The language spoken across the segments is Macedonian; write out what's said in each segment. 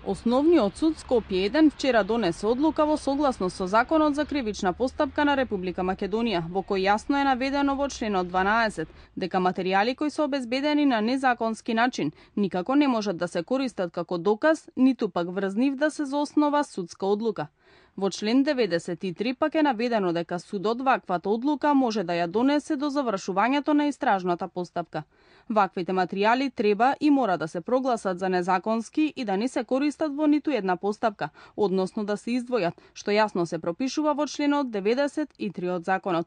Основниот суд Скопје 1 вчера донесе одлука во согласност со Законот за кривична постапка на Република Македонија, во кој јасно е наведено во членот 12 дека материјали кои се обезбедени на незаконски начин никако не можат да се користат како доказ, ниту пак врз нив да се заоснова судска одлука. Во член 93 пак е наведено дека судот ваквата одлука може да ја донесе до завршувањето на истражната постапка. Ваквите материјали треба и мора да се прогласат за незаконски и да не се користат во ниту една постапка, односно да се издвојат, што јасно се пропишува во членот 93 од законот.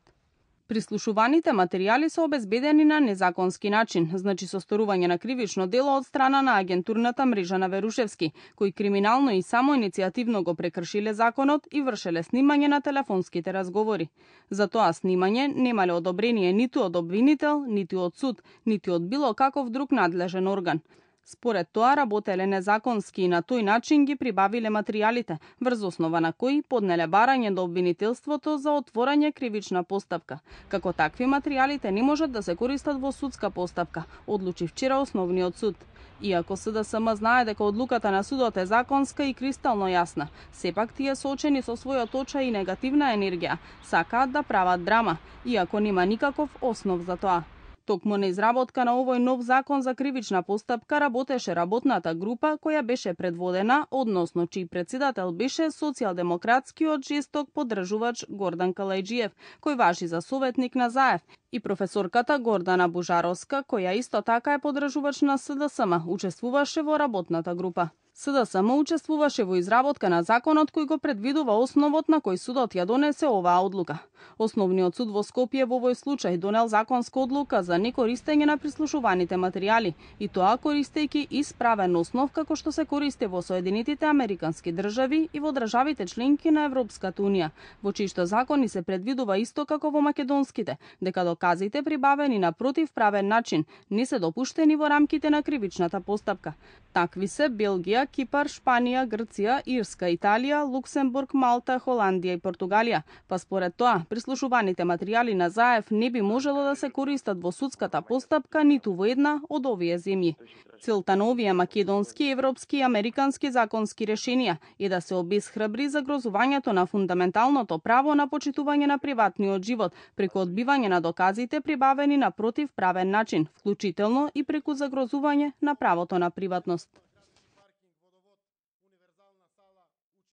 Прислушуваните материјали се обезбедени на незаконски начин, значи со сторување на кривично дело од страна на агентурната мрежа на Верушевски, кои криминално и самоиницијативно го прекршиле законот и вршеле снимање на телефонските разговори. За тоа снимање немале одобрение ниту од обвинител, ниту од суд, ниту од било каков друг надлежен орган. Според тоа работеле незаконски и на тој начин ги прибавиле материјалите, врз основа на кои поднеле барање до обвинителството за отворање кривична постапка. Како такви материјалите не можат да се користат во судска постапка, одлучи вчера Основниот суд. Иако СДСМ знае дека одлуката на судот е законска и кристално јасна, сепак тие соочени со својот очај и негативна енергија, сакаат да прават драма, иако нема никаков основ за тоа. Токму на изработка на овој нов закон за кривична постапка работеше работната група која беше предводена, односно чиј председател беше социјалдемократскиот жесток поддржувач Гордан Калајџиев, кој важи за советник на Заев, и професорката Гордана Бужаровска, која исто така е поддржувач на СДСМ, учествуваше во работната група. СДСМ учествуваше во изработка на законот кој го предвидува основот на кој судот ја донесе оваа одлука. Основниот суд во Скопје во овој случај донел законска одлука за некористење на прислушуваните материјали, и тоа користејќи исправен основ како што се користи во Соединетите Американски држави и во државите членки на Европската унија, во чиишто закони се предвидува исто како во македонските, дека доказите прибавени на противправен начин не се допуштени во рамките на кривичната постапка. Такви се Белгија, Кипар, Шпанија, Грција, Ирска, Италија, Луксембург, Малта, Холандија и Португалија. Па според тоа, прислушуваните материјали на Заев не би можело да се користат во судската постапка ниту во една од овие земји. Целта на овие македонски, европски и американски законски решенија е да се обесхрабри загрозувањето на фундаменталното право на почитување на приватниот живот преку одбивање на доказите прибавени на противправен начин, вклучително и преку загрозување на правото на приватност.